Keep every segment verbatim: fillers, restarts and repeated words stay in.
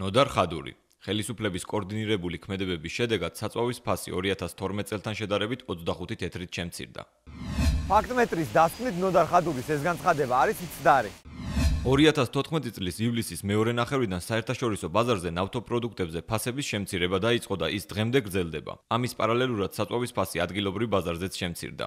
ნოდარ ხადური. ხელისუფლების კოორდინირებული ქმედებების შედეგად საწვავის ფასი ორი ათას თორმეტ წელთან შედარებით ოცდახუთი თეთრით შემცირდა. ფაქტმეტრის დასკვნით ნოდარ ხადურის ეს განცხადება არის მცდარი. ორი ათას თოთხმეტი წლის ივლისის მეორე ნახევრიდან საერთაშორისო ბაზარზე ნავთობპროდუქტებზე ფასების შემცირება დაიწყო და ის დღემდე გრძელდება. ამის პარალელურად საწვავის ფასი ადგილობრივ ბაზარზეც შემცირდა.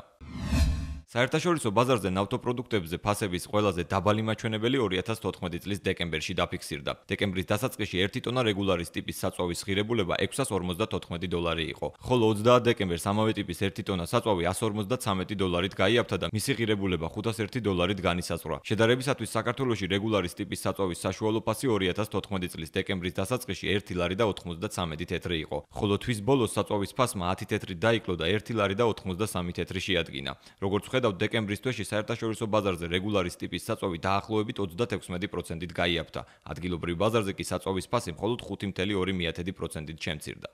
საერთაშორისო ბაზარზე ნავთობპროდუქტებზე ფასების ყველაზე დაბალი მაჩვენებელი ორი ათას თოთხმეტი წლის დეკემბერში დაფიქსირდა. დეკემბრის დასაწყისში ერთი ტონა რეგულარის ტიპის საწვავის ღირებულება ექვსას ორმოცდათოთხმეტი დოლარი იყო, ხოლო ოცდაათ დეკემბერს ამავე ტიპის ერთი ტონა საწვავი ასს ორმოცდაცამეტი დოლარით გაიაფთა და მისი ღირებულება ხუთას ერთი დოლარით განისაზღვრა. შედარებისათვის საქართველოში რეგულარის ტიპის საწვავის საშუალო ფასი ორი ათას თოთხმეტი წლის დეკემბრის დასაწყისში ერთი ლარი და ოთხმოცდაცამეტი თეთრი იყო, ხოლო თვის ბოლოს საწვავის ფასმა ათი თეთრით დაიკლო და ერთი ლარი და ოთხმოცდასამი თეთრი შეადგინა. როგორც ხედავთ, დეკემბრის თვეში საერთაშორისო ბაზარზე რეგულარის ტიპის საწვავი დაახლოებით ოცდათექვსმეტი პროცენტით გაიაფთა. ადგილობრივ ბაზარზე კი საწვავის ფასი მხოლოდ ხუთი კoma ორი პროცენტით შემცირდა.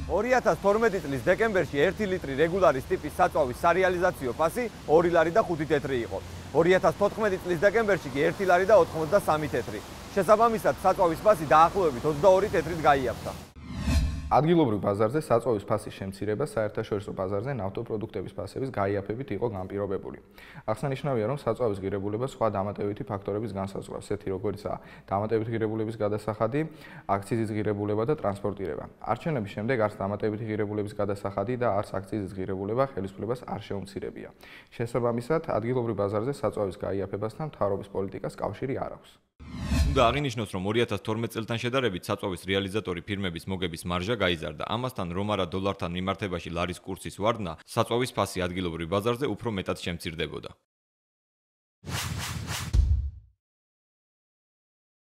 ორი ათას თორმეტი წლის დეკემბერში ერთი ლიტრი რეგულარის ტიპის საწვავის სარეალიზაციო ფასი ორი ლარი და ხუთი თეთრი იყო. ორი ათას თოთხმეტი წლის დეკემბერში კი ერთი ლარი და ოთხმოცდასამი თეთრი. შესაბამისად, საწვავის ფასი დაახლოებით ოცდაორი თეთრით გაიაფთა. ადგილობრივ ბაზარზე საწვავის ფასის შემცირება საერთაშორისო ბაზარზე ნავთობპროდუქტების ფასების გაიაფებით იყო განპირობებული. აღსანიშნავია, რომ საწვავის ღირებულება სხვა დამატებითი ფაქტორების განსაზღვრავს, ესეთი როგორიცაა დამატებითი ღირებულების გადასახადი, აქციზის ღირებულება და ტრანსპორტირება. არჩევნების შემდეგ არც დამატებითი ღირებულების გადასახადი და არც აქციზის ღირებულება ხელისუფლებას არ შეუმცირებია. შესაბამისად, ადგილობრივ ბაზარზე საწვავის გაიაფებასთან მთავრობის პოლიტიკას კავშირი არ აქვს. უნდა აღინიშნოს, რომ ორი ათას თორმეტ წელთან შედარებით საწვავის რეალიზატორი ფირმების მოგების მარჟა გაიზარდა. ამასთან, რომ არა დოლართან მიმართებაში ლარის კურსის ვარდნა, საწვავის ფასი ადგილობრივ ბაზარზე უფრო მეტად შემცირდებოდა.